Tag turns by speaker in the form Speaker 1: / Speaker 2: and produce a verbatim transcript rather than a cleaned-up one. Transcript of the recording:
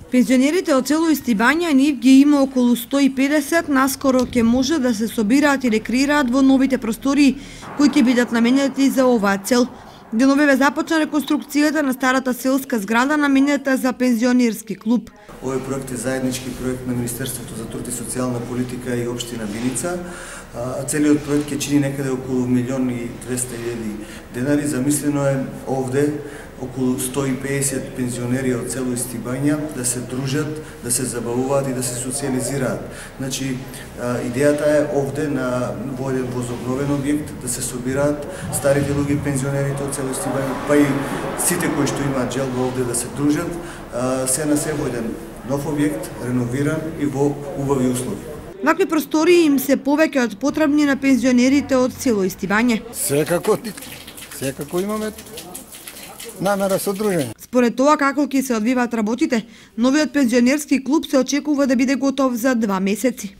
Speaker 1: Пензионерите од село Истибања нив ги има околу сто и педесет, наскоро ќе може да се собираат и рекреираат во новите простории кои ќе бидат наменети за оваа цел. Деновиве започна реконструкцијата на старата селска зграда наменета за пензионерски клуб.
Speaker 2: Овој проект е заеднички проект на Министерството за труд и социјална политика и општина Виница. Целиот проект ќе чини некаде околу милион и двесте илјади денари. Замислено е овде околу сто и педесет пензионери од село Истибања да се дружат, да се забавуваат и да се социализираат. Значи, идејата е овде на во еден возобновен објект да се собираат старите луѓе, пензионерите од село Истибања, па и сите кои што имаат желба овде да се дружат, се на се во еден нов објект, реновиран и во убави услови.
Speaker 1: Вакви простории им се повеќе од потребни на пензионерите од село Истибање.
Speaker 3: Секако, секако имаме намера со дружење.
Speaker 1: Според тоа како ќе се одвиваат работите, новиот пензионерски клуб се очекува да биде готов за два месеци.